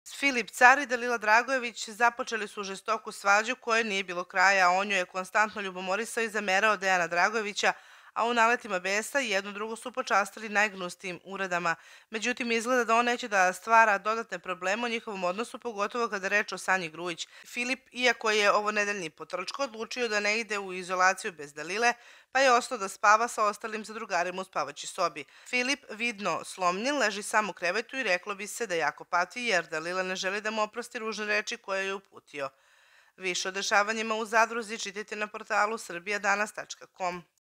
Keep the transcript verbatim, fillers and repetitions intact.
Filip Car i Dalila Dragojević započeli su žestoku svađu kojoj nije bilo kraja, a on joj je konstantno ljubomorisao i zamerao Dejana Dragojevića, a u naletima besa jedno drugo su počastili najgnusnijim uradama. Međutim, izgleda da on neće da stvara dodatne probleme u njihovom odnosu, pogotovo kada je reč o Sanji Grujić. Filip, iako je ovo nedeljni potrčko, odlučio da ne ide u izolaciju bez Dalile, pa je ostao da spava sa ostalim zadrugarima u spavaćoj sobi. Filip, vidno slomljen, leži sam u krevetu i reklo bi se da jako pati jer Dalila ne želi da mu oprosti ružne reči koje je uputio. Više o dešavanjima u Zadruzi čitajte na portalu srbija danas tačka com.